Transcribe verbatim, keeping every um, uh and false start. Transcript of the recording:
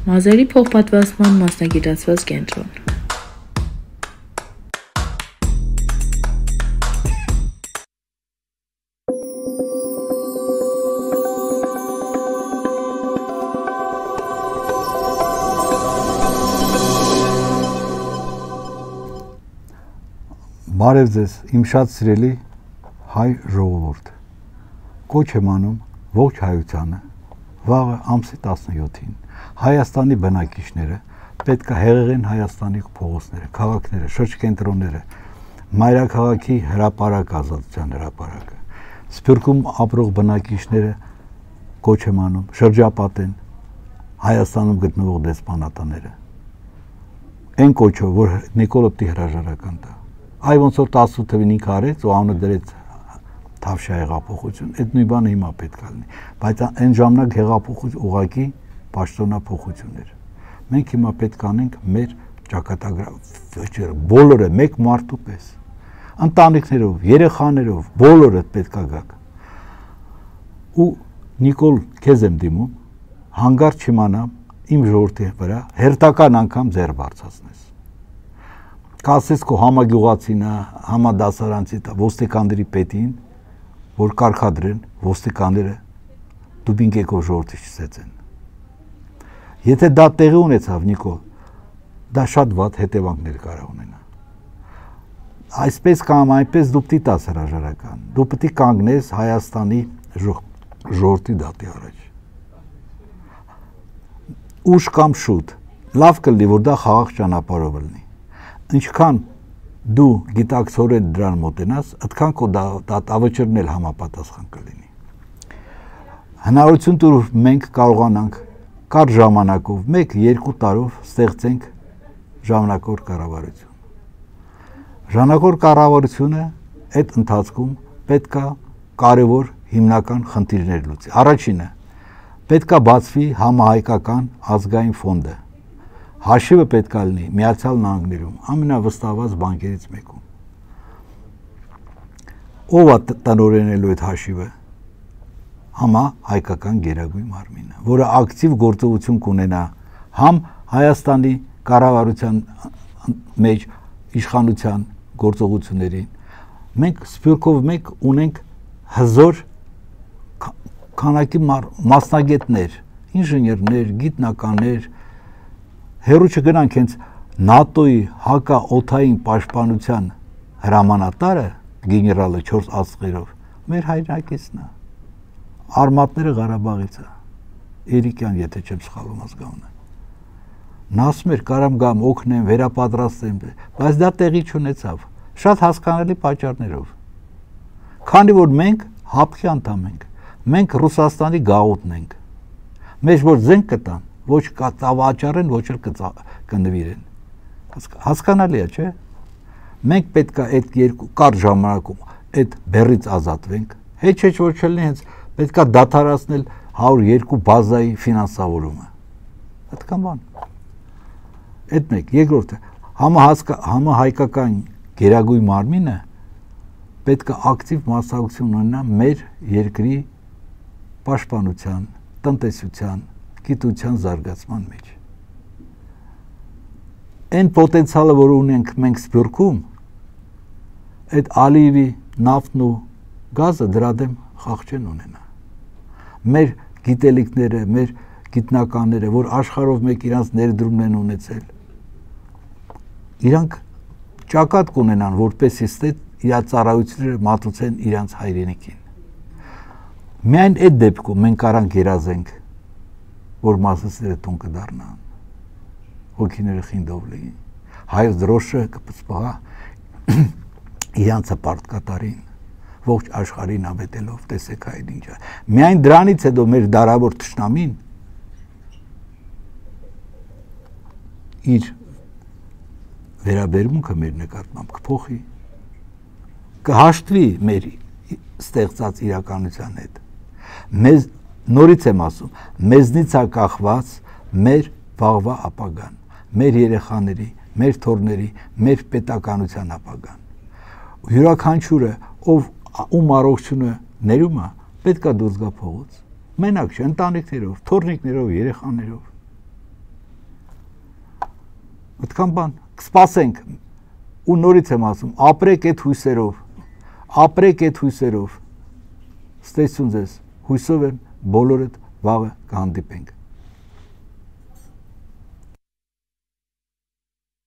Մազերի փոխպատվաստման մասնագիտացված կենտրոն։ Բարև ձեզ, իմ շատ սիրելի հայ ժողովուրդ, կոչ եմ անում ողջ հայությանը, վաղը ամսի տասնյոթին Հայաստանի բնակիչները պետք է հեղեղեն Հայաստանի փողոցները, քաղաքները, շրջկենտրոնները, մայրաքաղաքի հրապարակ ազատության հրապարակը, Սփյուռքում ապրող բնակիչները կոչ եմ անում շրջապատեն Հայաստանում գտնվող դեսպանատները, այն կոչով, որ Նիկոլոպտի հրաժարական տա, այ ոնց որ տասնութ թվին ինքը արեց ու անունը դրեց Թավշյա հեղափոխություն, այդ նույն բանը հիմա պետք է լինի, բայց այն ժամանակ հեղափոխություն ուղղակի պաշտոնափոխություն էր։ Մենք հիմա պետք է անենք մեր ճակատագրավիչները, բոլորը մեկ մարդու պես, ընտանիքներով, երեխաներով, բոլորը պետք է գաք։ Ու Նիկոլ, քեզ եմ դիմում, հանգարց չիմանամ իմ ժողովրդի վրա հերթական անգամ ձեռ բարձրացնես։ Կասես քո համագյուղացինը, համադասարանցի ոստիկանների պետին, որ կարգադրեն ոստիկանները դուբինգ եկող ժողովրդի չսեցեն։ Եթե դա տեղի ունեցավ, Նիկոլ, դա շատ վատ հետևանքներ կարող ունենա։ Այսպես կամ այնպես դու պիտի տաս հրաժարական, դու պիտի կանգնես Հայաստանի ժողովրդի դատի առաջ։ Ուշ կամ շուտ, լավ կլինի, որ դա խաղաղ ճանապարհով լինի։ Ինչքան դու գիտակցորեն դրան մոտենաս, այդքան քո դատավճիռն էլ համապատասխան կլինի։ Հնարավորություն տուր մենք կարողանանք կարճ ժամանակով, մեկ-երկու տարով ստեղծենք ժամանակավոր կառավարություն։ Ժամանակավոր կառավարությունը այդ ընթացքում պետք է կարևոր հիմնական խնդիրներ լուծի։ Առաջինը, պետք է բացվի համահայկական ազգային ֆոնդը։ Հաշիվը պետք է լինի Միացյալ Նահանգներում, ամենավստահված բանկերից մեկում։ Ով է տնօրինելու այդ հաշիվը։ Համահայկական գերագույն մարմինը, որը ակտիվ գործողություն կունենա համ Հայաստանի կառավարության մեջ իշխանության գործողություններին։ Մենք Սփյուռքով մեկ ունենք հզոր քանակի մասնագետներ, ինժեներներ, գիտնականներ, հերու չգնանք հենց նատոյի հակաօդային պաշտպանության հրամանատարը, գեներալը չորս աստղերով, մեր հայրենակիցն է, արմատները Ղարաբաղից է, Էրիկյան, եթե չեմ սխալվում ազգանունը։ Նա ասում էր, կարամ գամ, օգնեմ, վերապատրաստեմ, բայց դա տեղի չունեցավ, շատ հասկանալի պատճառներով։ Քանի որ մենք հապկի անդամ ենք, մենք Ռուսաստանի գաղութն ենք, մեջ որ զենք կտան, ոչ կծավաճառեն, ոչ էլ կնվիրեն։ Հասկանալի է, չէ՞։ Մենք պետք է այդ երկու կարճ ժամանակում այդ բեռից ազատվենք, հետ չէ որ չլինի, հենց պետք է դադարեցնել հարյուր երկու բազայի ֆինանսավորումը։ Այդքան բան։ Այդ մեկ, երկրորդը, համահայկական գերագույն մարմինը պետք է ակտիվ մասնակցություն ունենա մեր երկրի պաշտպանության, տնտեսության, գիտության զարգացման մեջ։ Այն պոտենցիալը, որ ունենք մենք Սփյուռքում, այդ Ալիևի նավթն ու գազը դրա դեմ խաղ չեն ունենա։ Մեր գիտելիքները, մեր գիտնականները, որ աշխարհով մեկ իրանց ներդրումն են ունեցել, իրանք ճակատ կունենան, որպեսզի ստե իր ծառայությունները մատուցեն իրանց հայրենիքին։ Միայն այդ դեպքում մենք կարանք երազենք, որ մասսները տուն կդառնան, հոգիները խինդով լինին, հայոց դրոշը կպծպաղա իրանցը պարտկատարին, ողջ աշխարհին ավետելով, տեսեք այդ ինչա։ Միայն դրանից հետո մեր դարավոր թշնամին իր վերաբերմունքը մեր նկատմամբ կփոխի, կհաշտվի մեր ստեղծած իրականության հետ։ Մեզ նորից եմ ասում, մեզնից է կախված մեր վաղվա ապագան, մեր երեխաների, մեր թոռների, մեր պետականության ապագան։ Յուրաքանչյուրը, ով ում առողջությունը ներում է, պետք է դուրս գա փողոց։ Մենակ չէ, ընտանիքներով, թոռնիկներով, երեխաներով։ Այդքան բան, կսպասենք, ու նորից եմ ասում, ապրեք այդ հույսերով, ապրեք այդ հույսերով, ստեսություն ձեզ, հույսով եմ բոլորդ վաղը կհանդիպենք։